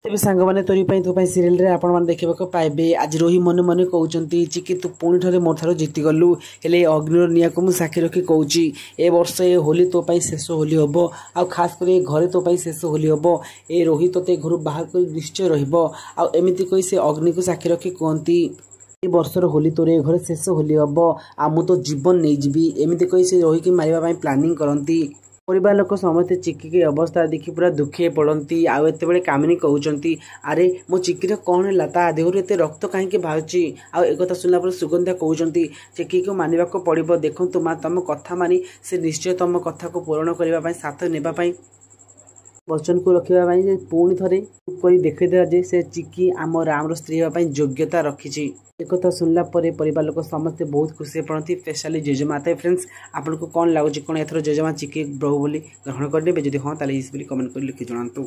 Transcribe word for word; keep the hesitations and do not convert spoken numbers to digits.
ତେବେ ସାଙ୍ଗମାନେ, ତୋରି ପାଇଁ ତୋ ପାଇଁ ସିରିଏଲରେ ଆପଣମାନେ ଦେଖିବାକୁ ପାଇବେ, ଆଜି ରୋହି ମନେ ମନେ କହୁଛନ୍ତି, ଚିକି ତୁ ପୁଣି ଥରେ ମୋ ଠାରୁ ଜିତିଗଲୁ। ହେଲେ ଏ ଅଗ୍ନିର ନିଆଁକୁ ମୁଁ ସାକ୍ଷୀ ରଖି କହୁଛି, ଏ ବର୍ଷ ଏ ହୋଲି ତୋ ପାଇଁ ଶେଷ ହୋଲି ହେବ, ଆଉ ଖାସ କରି ଏ ଘରେ ତୋ ପାଇଁ ଶେଷ ହୋଲି ହେବ। ଏ ରୋହି ତୋତେ ଘରୁ ବାହାର କରି ନିଶ୍ଚୟ ରହିବ। ଆଉ ଏମିତି କହି ସେ ଅଗ୍ନିକୁ ସାକ୍ଷୀ ରଖି କୁହନ୍ତି, ଏ ବର୍ଷର ହୋଲି ତୋର ଏ ଘରେ ଶେଷ ହୋଲି ହେବ, ଆଉ ମୁଁ ତୋ ଜୀବନ ନେଇଯିବି। ଏମିତି କହି ସେ ରୋହିକି ମାରିବା ପାଇଁ ପ୍ଲାନିଂ କରନ୍ତି। ପରିବାର ଲୋକ ସମସ୍ତେ ଚିକିକି ଅବସ୍ଥା ଦେଖି ପୁରା ଦୁଃଖୀ ପଡ଼ନ୍ତି। ଆଉ ଏତେବେଳେ କାମିନୀ କହୁଛନ୍ତି, ଆରେ ମୋ ଚିକିର କ'ଣ ହେଲା? ତା ଦେହରୁ ଏତେ ରକ୍ତ କାହିଁକି ବାହାରୁଛି? ଆଉ ଏକଥା ଶୁଣିଲା ପରେ ସୁଗନ୍ଧା କହୁଛନ୍ତି, ଚିକିକୁ ମାନିବାକୁ ପଡ଼ିବ। ଦେଖନ୍ତୁ ମା, ତମ କଥା ମାନି ସେ ନିଶ୍ଚୟ ତମ କଥାକୁ ପୂରଣ କରିବା ପାଇଁ, ସାଥ ନେବା ପାଇଁ, ବଚନକୁ ରଖିବା ପାଇଁ ଯେ ପୁଣି ଥରେ କରି ଦେଖେଇଦେଲା ଯେ ସେ ଚିକି ଆମ ରାମର ସ୍ତ୍ରୀ ହେବା ପାଇଁ ଯୋଗ୍ୟତା ରଖିଛି। ଏକଥା ଶୁଣିଲା ପରେ ପରିବାର ଲୋକ ସମସ୍ତେ ବହୁତ ଖୁସି ପଡ଼ନ୍ତି, ସ୍ପେଶାଲି ଜେଜେମା। ତ ଫ୍ରେଣ୍ଡସ୍, ଆପଣଙ୍କୁ କ'ଣ ଲାଗୁଛି, କ'ଣ ଏଥର ଜେଜେମା ଚିକି ବୋହୂ ବୋଲି ଗ୍ରହଣ କରିନେବେ? ଯଦି ହଁ, ତାହେଲେ ଇସ୍ ବୋଲି କମେଣ୍ଟ କରି ଲେଖି ଜଣାନ୍ତୁ।